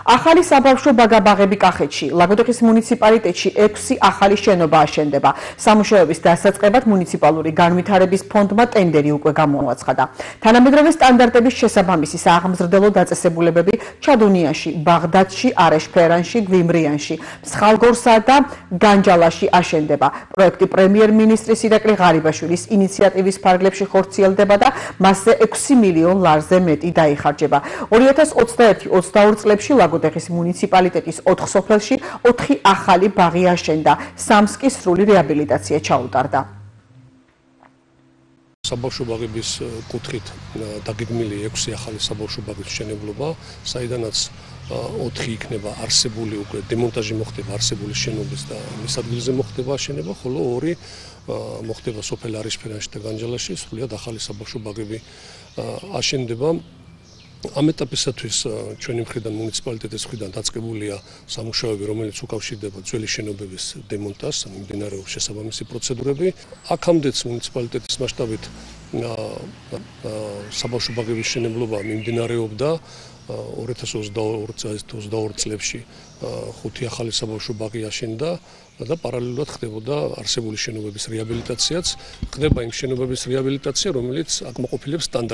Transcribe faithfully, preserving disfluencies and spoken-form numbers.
ახალი საბავშვო ბაგა-ბაღები კახეთში. ლაგოდეხის მუნიციპალიტეტში ექვსი ახალი შენობა აშენდება. სამუშაოების დასაწყებად მუნიციპალური განვითარების ფონდმა ტენდერი უკვე გამოაცხადა. თანამედროვე სტანდარტების შესაბამისი სააღმზრდელო დაწესებულებები ჩადუნიაში, ბაღდადში, არეშფერანში, გვიმრიანში, მსხალგორსა და განჯალაში აშენდება. პროექტი პრემიერ-მინისტრის ირაკლი ღარიბაშვილის ინიციატივის ფარგლებში ხორციელდება და მასზე ექვსი მილიონ ლარზე მეტი დაიხარჯება. ორი ათას ოცდაერთი ოცდაორი წლებში ლაგოდეხის მუნიციპალიტეტის ოთხ სოფელში ოთხი ახალი ბაღი აშენდა, სამს კი სრული რეაბილიტაცია ჩაუტარდა. საბავშვო ბაღების კუთხით დაგეგმილი ექვსი ახალი საბავშვო ბაღის მშენებლობა, საიდანაც ოთხი იქნება არსებული უკვე დემონტაჟი მოხდება არსებული შენობის და მის ადგილზე მოხდება აშენება, ხოლო ორი მოხდება სოფელ არეშფერანში და განჯალაში, სრულიად ახალი საბავშვო ბაღები აშენდება. ამ ეტაპისათვის ჩვენი მხრიდან მუნიციპალიტეტის მხრიდან დაწყებულია სამუშაოები, რომელიც უკავშირდება ძველი შენობების დემონტაჟს, მიმდინარეობს შესაბამისი პროცედურები. აქამდეც მუნიციპალიტეტის მასშტაბით საბავშვო ბაღების მშენებლობა მიმდინარეობდა ორი ათას ოცდაორი წლებში ხუთი ახალი საბავშვო ბაღი აშენდა და პარალელურად ხდებოდა არსებული შენობების რეაბილიტაციაც, ხდება იმ შენობების რეაბილიტაცია, რომელიც აკმაყოფილებს სტანდარტს.